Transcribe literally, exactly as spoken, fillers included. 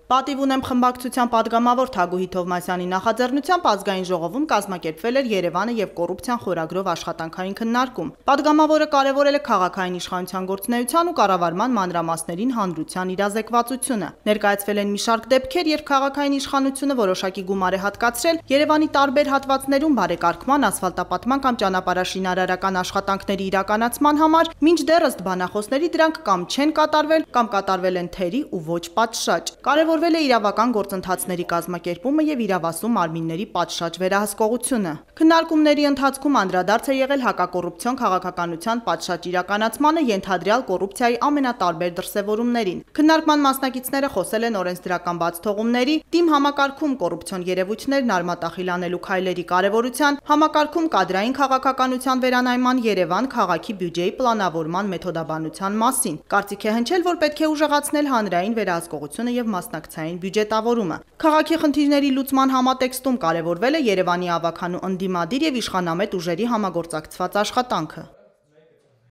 Պատիվ ունեմ խմբակցության падգամավոր Թագուհի Թովմասյանի նախաձեռնությամբ ազգային ժողովում կազմակերպվել էր Երևանը եւ կոռուպցիան խորագրով աշխատանքային քննարկում։ Պատգամավորը կարևորել է քաղաքային իշխանության գործունեության ու կառավարման մանրամասներին հանրության իրազեկվածությունը։ Ներկայացվել են մի շարք դեպքեր, երբ քաղաքային իշխանությունը որոշակի գումար է հատկացրել Երևանի տարբեր հատվածներում բարեկարգման, ասֆալտապատման կամ ճանապարհաշինարարական աշխատանքների իրականացման համար, մինչդեռ ըստ բանախոսների դրանք կամ չեն կատարվել, կամ կատարվել են թերի ու ոչ պատշաճ։ Կարևորվել է իրավական գործընթացների կազմակերպումը եւ իրավասու մարմինների պատշաճ վերահսկողությունը։ Քննարկումների ընթացքում անդրադարձ է եղել հակակոռուպցիոն քաղաքականության պատշաճ իրականացմանը, ենթադրյալ կոռուպցիայի ամենատարբեր դրսևորումներին։ Քննարկման մասնակիցները խոսել են օրենսդրական բացթողումների, թիմ համակարգում կոռուպցիոն երևույթներն արմատախիլանելու քայլերի կարևորության, համակարգում կադրային քաղաքականության վերանայման, Երևան քաղաքի բյուջեի պլանավորման մեթոդաբանության մասին։ Կարծիք է հնչել, որ պետք է ուժեղացնել հանրային վերահսկողությունը եւ մասնակցային բյուջետավորումը։ Քաղաքի խնդիրների լուծման համատեքստում կարևորվել է Երևանի ավագանու ընդդիմադիր եւ իշխանամետ ուժերի համագործակցված աշխատանքը։